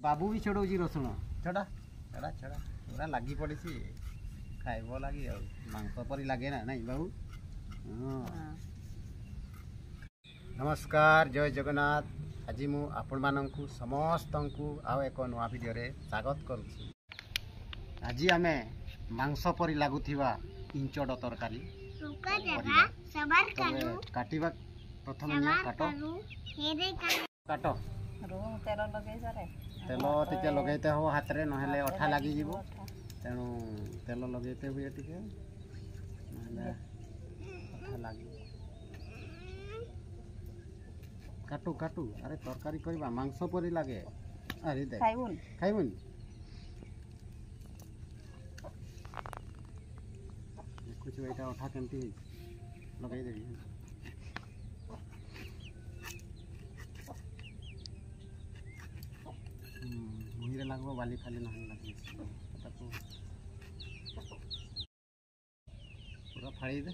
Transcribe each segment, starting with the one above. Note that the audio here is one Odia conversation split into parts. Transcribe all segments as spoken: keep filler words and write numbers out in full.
ବାବୁ ବି ଛଡ଼ଉଛି ରସୁଣ। ଛଡ଼ା ଛଡ଼ା ଛଡ଼ା, ପୁରା ଲାଗି ପଡ଼ିଛି ଖାଇବ ଲାଗି। ଆଉ ମାଂସ ପରି ଲାଗେ ନା ନାଇଁ ବାବୁ? ହଁ। ନମସ୍କାର, ଜୟ ଜଗନ୍ନାଥ। ଆଜି ମୁଁ ଆପଣମାନଙ୍କୁ ସମସ୍ତଙ୍କୁ ଆଉ ଏକ ନୂଆ ଭିଡ଼ିଓରେ ସ୍ୱାଗତ କରୁଛି। ଆଜି ଆମେ ମାଂସ ପରି ଲାଗୁଥିବା ଇଞ୍ଚଡ଼ ତରକାରୀ କରିବା। ତବେ କାଟିବା ପ୍ରଥମେ। ନିଅ, କାଟ କାଟ। ତେଲ ଲଗେଇ ସାରେ। ତେଲ ଟିକେ ଲଗେଇତେ ହବ ହାତରେ, ନହେଲେ ଅଠା ଲାଗିଯିବ। ତେଣୁ ତେଲ ଲଗେଇତେ ହୁଏ ଟିକେ, ନହେଲେ ଅଠା ଲାଗିବ। କାଟୁ କାଟୁ। ଆରେ, ତରକାରୀ କରିବା, ମାଂସ ପରି ଲାଗେ। ଆରେ ଦେଖ। ଖାଇବୁନି? ଖାଇବୁନି? ଦେଖୁଛୁ ଏଇଟା ଅଠା କେମିତି ହେଇଛି, ଲଗେଇଦେବି। ମୁହିଁରେ ଲାଗିବ, ବାଲି ଫାଲି ନହେଲେ ଲାଗିବ। ତାକୁ ପୁରା ଫାଳି ଦେ।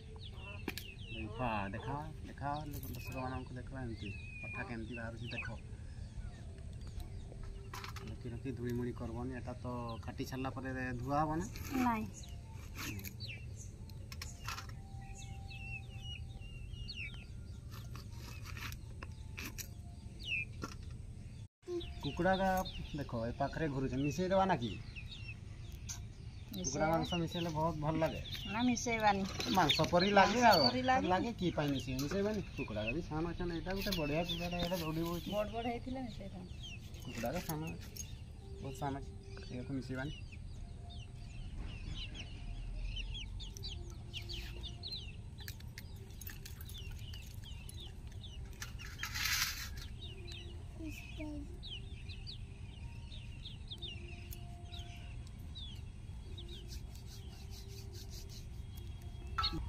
ଦେଖା ଦେଖା ଦେଖା, ଦର୍ଶକମାନଙ୍କୁ ଦେଖା, ଏମିତି ଅଠା କେମିତି ବାହାରୁଛି ଦେଖ। ରଖି ରଖି ଧୂଳି ମୁଳି କରବନି। ଏଟା ତ କାଟି ସାରିଲା ପରେ ଧୁଆ ହବ ନା? ନାଇଁ। କୁକୁଡ଼ା ଦେଖ, ଏ ପାଖରେ ଘୁରୁছে। ମିଶେଇ ଦେବା ନା କି? କୁକୁଡ଼ା ମାଂସ ମିଶେଇଲେ ବହୁତ ଭଲ ଲାଗେ। ନା, ମିଶେଇବାନି। ମାଂସ ପରି ଲାଗେ ଆଉ ପରି ଲାଗେ। ଲାଗେ କି ପାଇଁ ମିଶେଇ ମିଶେଇବାନି? କୁକୁଡ଼ା ବି ସାନ ଅଛନ୍ତି। ଏଇଟା ଗୋଟେ ବଢ଼ିଆ କୁକୁଡ଼ାଟା, ଏଇଟା ଦୌଡ଼ି ବଉଛି। ବଡ଼ ବଡ଼ ହେଇଥିଲେ ମିଶେଇଥାନ୍ତି। କୁକୁଡ଼ାଟା ସାନ ଅଛି, ବହୁତ ସାନ ଅଛି, ଏହାକୁ ମିଶେଇବାନି।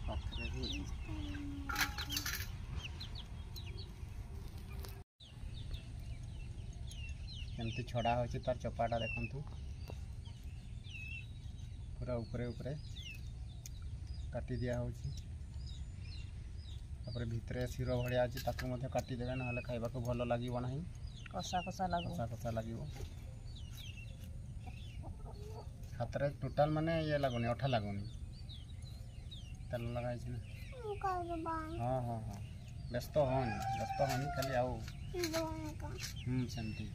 ପାଖରେ ବି କେମିତି ଛଡ଼ା ହେଉଛି ତାର ଚୋପାଟା ଦେଖନ୍ତୁ। ପୁରା ଉପରେ ଉପରେ କାଟି ଦିଆହେଉଛି। ତାପରେ ଭିତରେ ଶିର ଭଳିଆ ଅଛି, ତାକୁ ମଧ୍ୟ କାଟିଦେବେ, ନହେଲେ ଖାଇବାକୁ ଭଲ ଲାଗିବ ନାହିଁ। କଷା କଷା ଲାଗିବ। କଷା କଷା ଲାଗିବ। ହାତରେ ଟୋଟାଲ ମାନେ ଇଏ ଲାଗୁନି, ଅଠା ଲାଗୁନି। ତେଲ ଲଗା ହେଇଛି ନା। ହଁ ହଁ ହଁ, ବ୍ୟସ୍ତ ହଅନି, ବ୍ୟସ୍ତ ହଅନି ଖାଲି ଆଉ। ହୁଁ, ସେମିତି।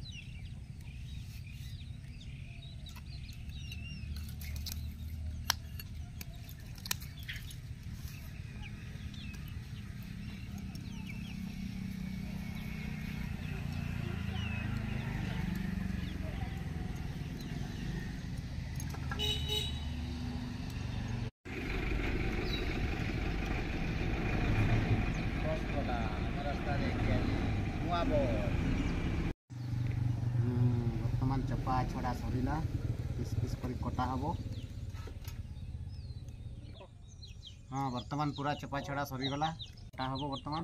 ବସ୍ ଗଲା ଆମ ରାସ୍ତା ଦେଇକି ଆଜି, ନୂଆ ବସ୍। ବର୍ତ୍ତମାନ ଚୋପା ଛଡ଼ା ସରିଲା, ପିସ୍ ପିସ୍ କରି କଟା ହବ। ହଁ, ବର୍ତ୍ତମାନ ପୁରା ଚୋପା ଛଡ଼ା ସରିଗଲା, କଟା ହବ ବର୍ତ୍ତମାନ।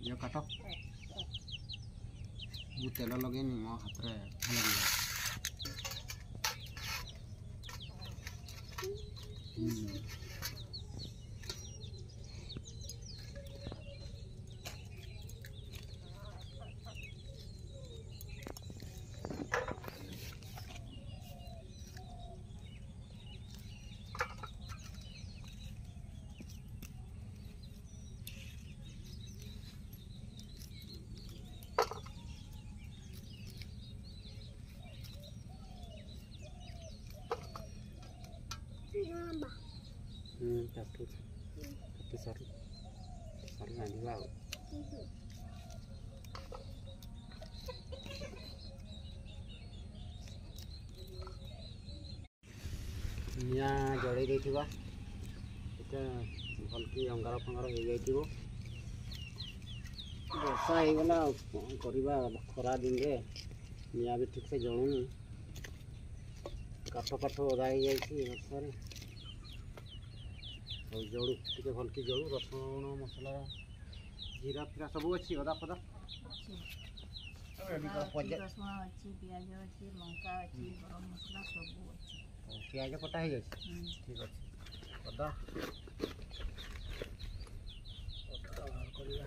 ଇଏ କାଟ। ମୁଁ ତେଲ ଲଗେଇନି, ମୋ ହାତରେ ଅଠା ଲାଗିବ। ହୁଁ ହୁଁ କାଟୁଛି, କାଟି ସରୁ ସରୁ, ରାନ୍ଧିବା। ଆଉ ନିଆଁ ଜଳେଇ ଦେଇଥିବା, ଟିକେ ଭଲକି ଅଙ୍ଗାର ଫଙ୍ଗାର ହେଇଯାଇଥିବ। ବର୍ଷା ହେଇଗଲା, ଆଉ କ'ଣ କରିବା? ଖରା ଦିନରେ ନିଆଁ ବି ଠିକ୍ସେ ଜଳୁନି। କାଠ ଫାଠ ଓଦା ହେଇଯାଇଛି ବର୍ଷାରେ। ଆଉ ଜଳୁ, ଟିକେ ଭଲକି ଜଳୁ। ରସୁଣ, ମସଲା, ଜିରା ଫିରା ସବୁ ଅଛି, ଅଦା ଫଦା? ଅଦା ଅଛି, ରସୁଣ ଅଛି, ପିଆଜ ଅଛି, ଲଙ୍କା ଅଛି, ଗରମ ମସଲା ସବୁ ଅଛି। ପିଆଜ କଟା ହେଇଯାଇଛି? ହୁଁ। ଠିକ୍ ଅଛି। ଅଦା ଅଦା ବାହାର କରିବା।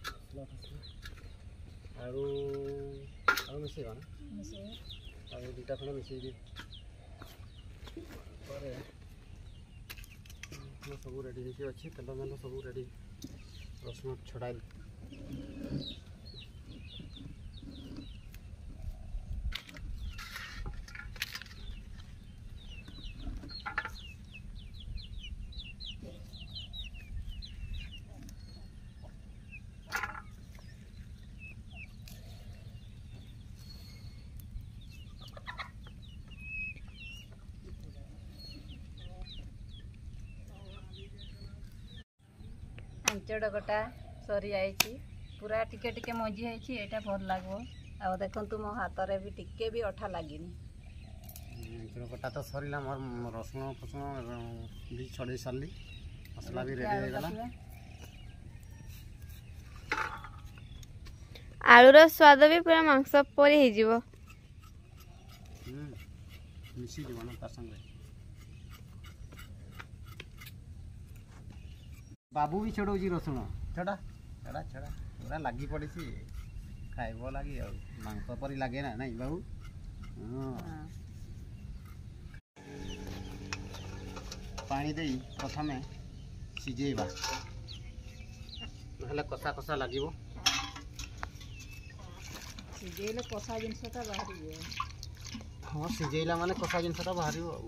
ମସଲା ଫସଲା, ଆଳୁ ଆଉ ମିଶେଇବା ନା ମିଶେଇବା ଆଉ ଏ ଦୁଇଟା ଖଣ୍ଡେ ମିଶେଇ ଦିଏ ପରେ ସବୁ ରେଡ଼ି ହେଇକି ଅଛି ତେଲ ମେଲ ସବୁ ରେଡ଼ି ରସୁଣ ଛଡ଼ାଇ ଆଞ୍ଚଡ଼ କଟା ସରିଯାଇଛି ପୁରା ଟିକେ ଟିକେ ମଞ୍ଜି ହେଇଛି ଏଇଟା ଭଲ ଲାଗିବ ଆଉ ଦେଖନ୍ତୁ ମୋ ହାତରେ ବି ଟିକେ ବି ଅଠା ଲାଗିନି ଆଞ୍ଚଡ଼ କଟା ତ ସରିଲା ମୋର ରସୁଣ ଫସୁଣ ବି ଛଡ଼େଇ ସାରିଲି ମସଲା ବି ରେଡ଼ି ହେଇଗଲା ଆଳୁର ସ୍ୱାଦ ବି ପୁରା ମାଂସ ପରି ହେଇଯିବ ମିଶିଯିବ ନା ତା ସାଙ୍ଗରେ ବାବୁ ବି ଛଡ଼ଉଛି ରସୁଣ ଛଡ଼ା ଛଡ଼ା ଛଡ଼ା ପୁରା ଲାଗି ପଡ଼ିଛି ଖାଇବ ଲାଗି ଆଉ ମାଂସ ପରି ଲାଗେ ନା ନାଇଁ ବାବୁ ହଁ ପାଣି ଦେଇ ପ୍ରଥମେ ସିଝେଇବା ନହେଲେ କଷା କଷା ଲାଗିବ ସିଝେଇଲେ କଷା ଜିନିଷଟା ବାହାରିଯିବ ହଁ ସିଝେଇଲା ମାନେ କଷା ଜିନିଷଟା ବାହାରିବ ଆଉ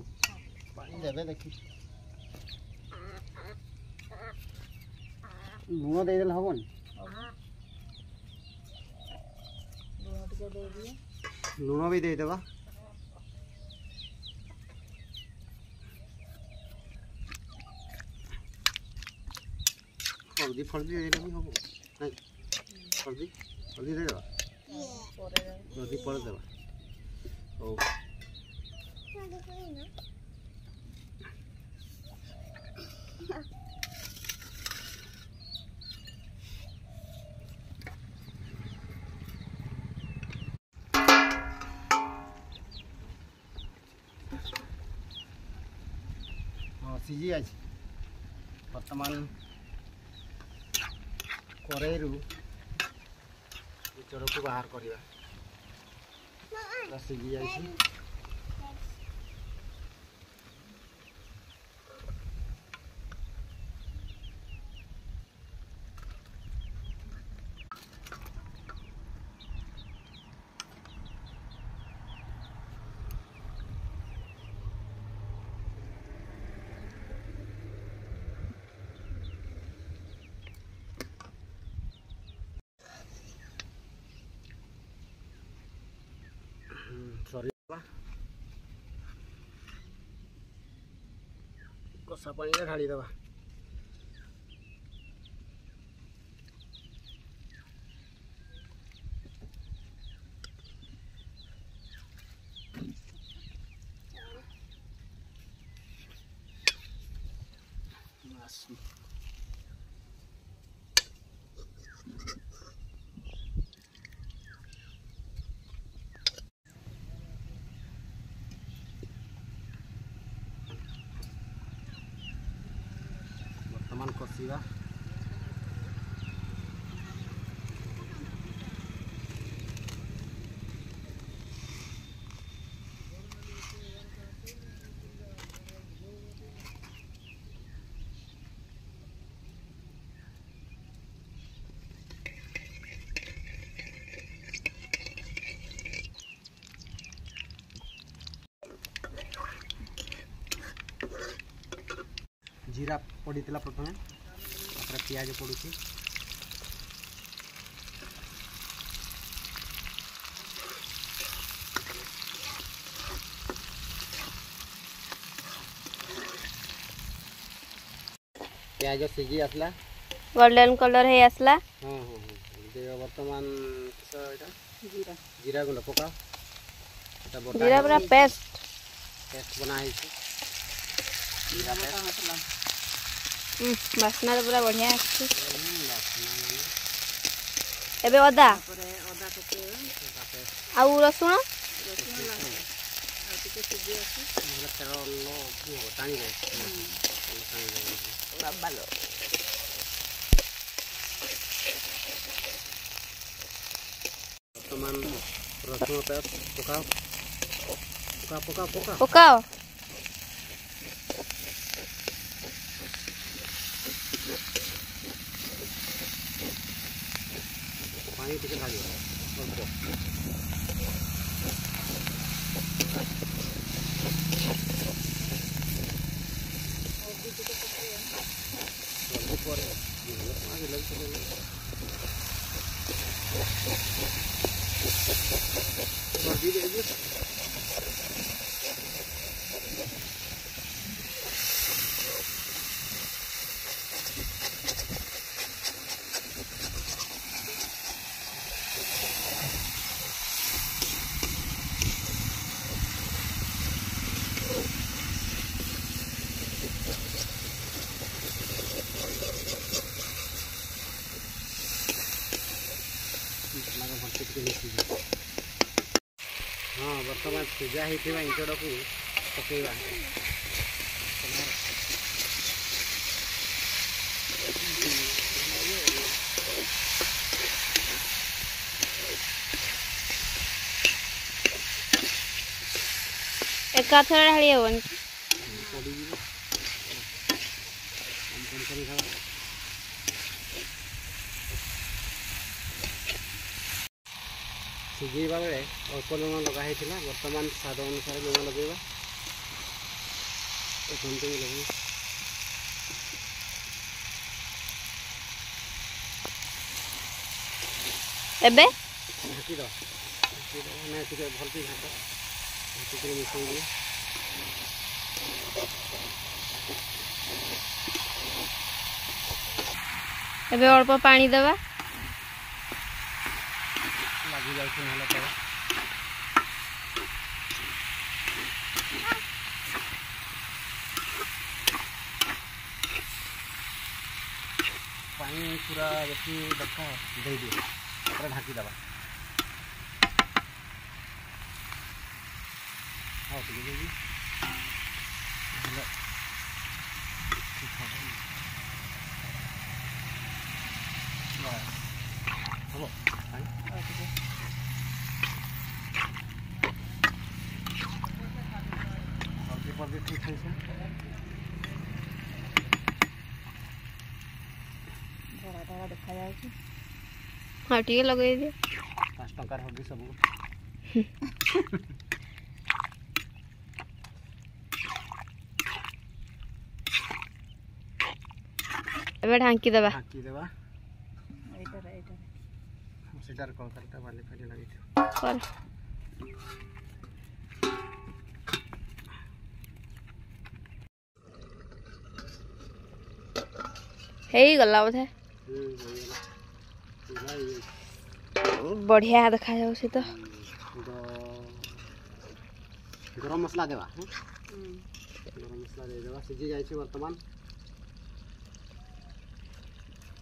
ପାଣି ଦେବେ ଦେଖି ଲୁଣ ଦେଇଦେଲେ ହବନି ଲୁଣ ଟିକେ ଦେଇଦିଏ ଲୁଣ ବି ଦେଇଦେବା ହଳଦୀ ଫଳଦୀ ଦେଇଦେଲେ ବି ହବ ନାଇଁ ହଳଦୀ ହଳଦୀ ଦେଇଦେବା ପରେ ହଳଦୀ ପରେ ଦେବା ହଉ ହଁ ସିଝି ଯାଇଛି ବର୍ତ୍ତମାନ କରେଇରୁ ଚଢ଼କୁ ବାହାର କରିବା ପୁରା ସିଝି ଯାଇଛି ସରିବା କଷା ପାଣିରେ ଢାଳିଦେବା ବର୍ତ୍ତମାନ କଷିବା ଜିରା ପଡ଼ିଥିଲା ପ୍ରଥମେ ତାପରେ ପିଆଜ ପଡ଼ୁଛି ପିଆଜ ସିଝି ଆସିଲା ଗୋଲ୍ଡେନ କଲର ହେଇ ଆସିଲା ହଁ ହଁ ହଁ ଦେବ ବର୍ତ୍ତମାନ କିସ ଏଇଟା ଜିରା ଜିରା ଗୁଣ୍ଡ ପକାଅ ଏଟା ବଟା ଜିରା ପୁରା ପେଷ୍ଟ ପେଷ୍ଟ ବନା ହେଇଛି ଜିରା ବଟା ପେଷ୍ଟ ମସଲା ବାସ୍ନା ତ ପୁରା ବଢିଆ ଆସୁଛି ହୁଁ, ବାସ୍ନା ମାନେ ଏବେ ଅଦା ତାପରେ ଅଦା ପକେଇବା ଅଦା ପେଷ୍ଟ ଆଉ ରସୁଣ ରସୁଣ ଲାଷ୍ଟ ଆଉ ଟିକେ ସିଝି ଆସୁ ନହେଲେ ତେଲ ଟାଣିବ ତେଲ ଟାଣିବ ବାବାଲୋ ବର୍ତ୍ତମାନ ରସୁଣ ପେଷ୍ଟ ପକାଅ, ପକା ପକା ପକା। ପକାଅ। ପାଣି ଟିକେ ଢାଳିବ ଅଳ୍ପ। ହଳଦୀ ପରେ ହଳଦୀ ଦେଇଦିଅ। ମସଲାକୁ ଭଲସେ ଟିକେ ମିଶିଯିବ। ହଁ, ବର୍ତ୍ତମାନ ସିଝା ହେଇଥିବା ଇଞ୍ଚଡ଼କୁ ପକେଇବା। ଏକାଥରେ ଢାଳି ହେବନି? ପଡ଼ିଯିବ, କମ୍ କମ୍ କରି ଖାଇବା। ସିଝେଇବା ବେଳେ ଅଳ୍ପ ଲୁଣ ଲଗା ହେଇଥିଲା, ବର୍ତ୍ତମାନ ସ୍ୱାଦ ଅନୁସାରେ ଲୁଣ ଲଗେଇବା। ଦେଖନ୍ତୁ, ଲଗେଇ ଏବେ ଢାଙ୍କି ଦେବା, ଢାଙ୍କି ଦେବା। ନାଇଁ, ଟିକେ ଭଲକି ଘାଣ୍ଟ, ଘାଣ୍ଟିକିରି ମିଶାଇ ଦିଏ। ଏବେ ଅଳ୍ପ ପାଣି ଦେବା। ଲାଗି ଯାଉଛି ନହେଲେ ତଳେ। ପାଣି ପୁରା ଯେତିକି ଦରକାର ଦେଇଦିଅ, ତାପରେ ଢାଙ୍କି ଦେବା। ଆଉ ଟିକେ ଦେଇଦିଅ, ନହେଲେ ଠିକ୍ ହବନି। ବାସ୍, ହବ ପାଣି। ଆଉ ଟିକେ। ହଳଦୀ ଫଳଦୀ ଠିକ୍ ହେଇছে। ଧଳା ଧଳା ଦେଖାଯାଉଛି। ଆଉ ଟିକେ ଲଗେଇ ଦିଅ। ପାଞ୍ଚ ଟଙ୍କାର ହଳଦୀ ସବୁ। ଏବେ ଢାଙ୍କି ଦେବା। ଢାଙ୍କି ଦେବା। ଏଇଟାରେ, ଏଇଟାରେ। ସେଟାରେ କଳକାରିଟା ବାଲି ଫାଲି ଲାଗିଥିବ। କର। ହେଇଗଲା ବୋଧେ। ହୁଁ, ହେଇଗଲା, ପୁରା ହେଇଯାଇଛି। ବଢିଆ ଦେଖାଯାଉଛି ତ। ଗରମ ମସଲା ଦେବା। ହଁ, ଗରମ ମସଲା ଦେଇଦେବା। ସିଝି ଯାଇଛି ବର୍ତ୍ତମାନ।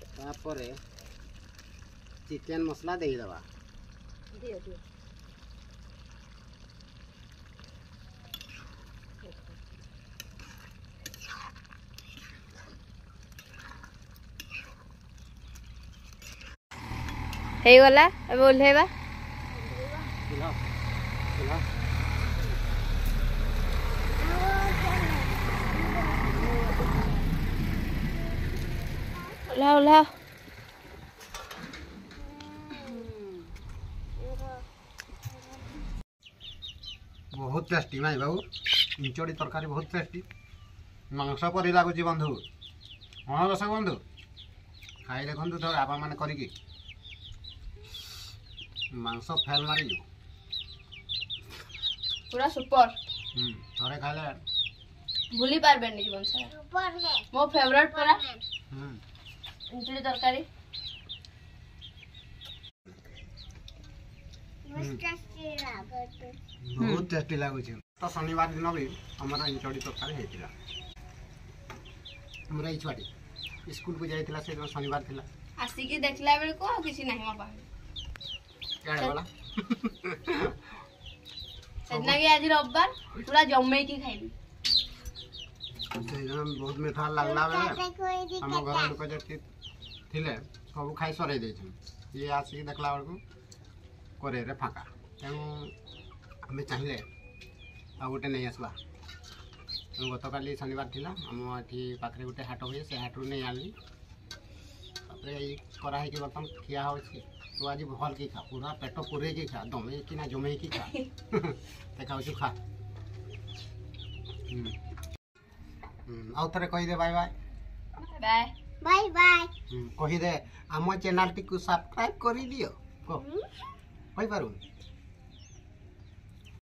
ତାପରେ ଚିକେନ ମସଲା ଦେଇଦେବା। ଦିଅ ଦିଅ। ହେଇଗଲା, ଏବେ ଓହ୍ଲେଇବା। ଓହ୍ଲାଅ, ଓହ୍ଲାଅ। ଓହ୍ଲାଅ, ଓହ୍ଲାଅ। ବହୁତ ଟେଷ୍ଟି ନାଇଁ ବାବୁ? ଇଞ୍ଚଡ଼ି ତରକାରୀ ବହୁତ ଟେଷ୍ଟି, ମାଂସ ପରି ଲାଗୁଛି ବନ୍ଧୁ। ହଁ ଦର୍ଶକ ବନ୍ଧୁ, ଖାଇ ଦେଖନ୍ତୁ ଥରେ ଆପଣମାନେ କରିକି, ମାଂସ ଫେଲ ମାରିଯିବ। ପୁରା ସୁପର। ହୁଁ, ଥରେ ଖାଇଲେ ଭୁଲି ପାରବେନି ଜୀବନ ସାରା। ମୋ ଫେଭରେଟ ପରା ହୁଁ ଇଞ୍ଚୁଡ଼ି ତରକାରୀ। ବହୁତ ଟେଷ୍ଟି ଲାଗୁଛି ତ। ଶନିବାର ଦିନ ବି ଆମର ଇଞ୍ଚଡ଼ି ତରକାରୀ ହେଇଥିଲା। ଆମର ଏଇ ଛୁଆଟି ସ୍କୁଲକୁ ଯାଇଥିଲା, ସେଦିନ ଶନିବାର ଥିଲା। ଆସିକି ଦେଖିଲା ବେଳକୁ ଆଉ କିଛି ନାହିଁ ମୋ ପାଖରେ। କୁଆଡ଼େ ଗଲା? ସେଦିନ ବି, ଆଜି ରବିବାର, ପୁରା ଜମେଇକି ଖାଇଲି। ସେଇଦିନ ବହୁତ ମିଠା ଲାଗିଲା ବେଳେ ଆମ ଘର ଲୋକ ଯେତିକି ଥିଲେ ସବୁ ଖାଇ ସରେଇ ଦେଇଛନ୍ତି। ଇଏ ଆସିକି ଦେଖିଲା ବେଳକୁ କରେଇରେ ଫାଙ୍କା। ତେଣୁ ଆମେ ଚାହିଁଲେ ଆଉ ଗୋଟେ ନେଇ ଆସିବା। ତେଣୁ ଗତକାଲି ଶନିବାର ଥିଲା, ଆମ ଏଠି ପାଖରେ ଗୋଟେ ହାଟ ହୁଏ, ସେ ହାଟରୁ ନେଇ ଆଣିଲି। ତାପରେ ଏଇ କରାହେଇକି ବର୍ତ୍ତମାନ ଖିଆ ହେଉଛି। ତୁ ଆଜି ଭଲକି ଖା, ପୁରା ପେଟ ପୁରେଇକି ଖା, ଦମେଇକି ନା ଜମେଇକି ଖା। ଦେଖାଉଛୁ, ଖା। ହୁଁ ହୁଁ ଆଉ ଥରେ କହିଦେ bye bye. Bye. Bye bye. କହିଦେ, ଆମ ଚ୍ୟାନେଲଟିକୁ ସବସ୍କ୍ରାଇବ୍ କରିଦିଅ କହ। କହିପାରୁନି?